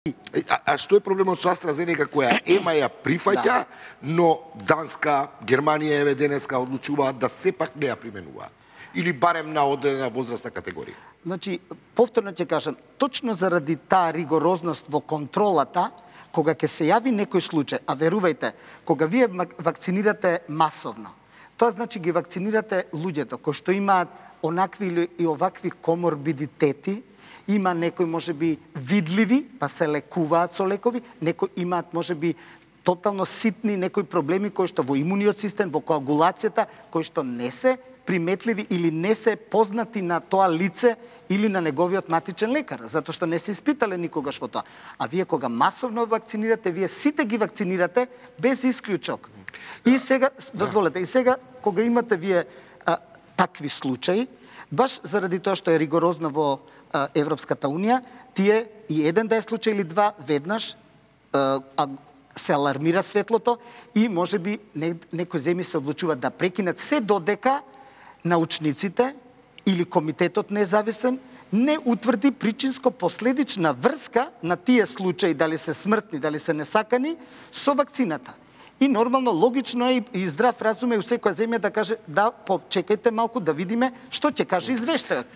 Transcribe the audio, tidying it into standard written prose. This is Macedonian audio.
А што е проблемот со AstraZeneca која ЕМА ја прифаќа, но Данска, Германија еве денеска одлучуваат да сепак не ја применуваат? Или барем на одредена возрастна категорија? Значи, повторно ќе кажам, точно заради таа ригорозност во контролата, кога ќе се јави некој случај, а верувајте, кога вие вакцинирате масовно, тоа значи ги вакцинирате луѓето кои што имаат онакви или и овакви коморбидитети, има некои можеби видливи, па се лекуваат со лекови, некои имаат можеби тотално ситни некои проблеми кои што во имуниот систем, во коагулацијата, кои што не се приметливи или не се познати на тоа лице или на неговиот матичен лекар, затоа што не се испитале никогаш во тоа. А вие кога масовно вакцинирате, вие сите ги вакцинирате без исклучок. И сега, дозволете, и сега кога имате вие такви случаи, баш заради тоа што е ригорозно во Европската Унија, тие и еден да е случај или два веднаш се алармира светлото и можеби некои земји се одлучуваат да прекинат се додека научниците или комитетот независен не утврди причинско-последична врска на тие случаи, дали се смртни, дали се несакани, со вакцината. И нормално, логично е и здрав разум е у секоја земја да каже да, почекајте малку да видиме што ќе каже извештајот.